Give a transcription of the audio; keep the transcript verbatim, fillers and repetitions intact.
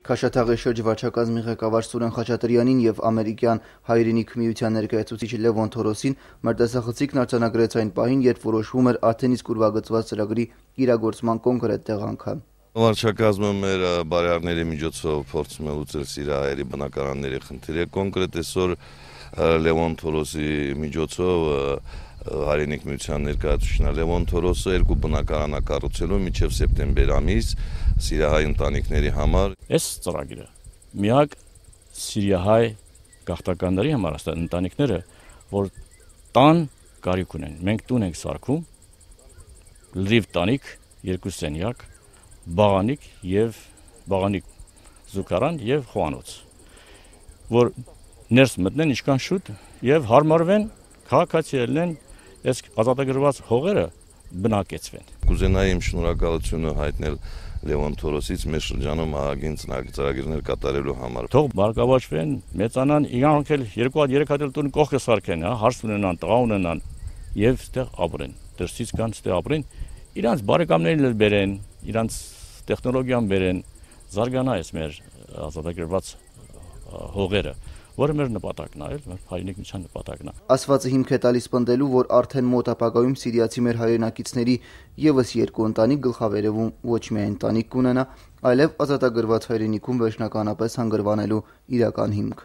Քաշաթաղի շրջվարչակազմի ղեկավար Սուրեն Խաչատրյանին և ամերիկյան հայրենիք միության ներկայացուցիչ Լևոն Թորոսին մարտահրավերն արձանագրեց այն պահին, երբ որոշվում էր արդեն իսկ ուրվագծված ծրագրի իրագործման կոնկրետ տեղանքը։ Վարչակազմը մեր բարերարների միջոցով փորձում է լուծել սիրիահայերի բնակարանների խնդիրը, կոնկրետ այսօր Լևոն Թորոսի միջոցով հայրենիք միության ներկայացուցիչն Լևոն Թորոսը երկու բնակարան կառուցելու մինչև սեպտեմբեր ամիս սիրիահայ ընտանիքների համար։ Այս ծրագիրը միակ սիրիահայ գաղթականների համար է ընտանիքները, որ տան կարիք ունեն։ Մենք տուն ենք սարքում, լրիվ տանիք, երկու սենյակ, բաղանիք եւ բաղանիք զուգարան եւ խոհանոց, որ ներս մտնեն ինչքան շուտ եւ հարմարվեն, քաղաքացիներն այս ազատագրված հողերը բնակեցվեն։ Կուզենայի իմ շնորհակալությունը հայտնել Լևոն Թորոսից մեր շրջանում ահագին ծրագրեր կատարելու համար։ Թող բարգավաճվեն, մեծանան, իրանք էլ երկու հատ երեք հատ տուն կողքը սարքեն, հա, հարց ունենան, տղա ունենան եւ ստեղ ապրեն։ Դրսից կան ստեղ ապրեն, իրանց բարեկամներին էլ բերեն, իրանց տեխնոլոգիան բերեն, զարգանա այս մեր ազատագրված հողերը, որը մեր նպատակն է, մեր հայրենիք միության նպատակն է։ Ասվածը հիմք է տալիս պնդելու, որ արդեն մոտ ապագայում սիրիացի մեր հայրենակիցների եւս երկու ընտանիք գլխավերևում ոչ միայն ընտանիք կունենա, այլև ազատագրված հայրենիքում վերջնականապես հանգրվանելու իրական հիմք։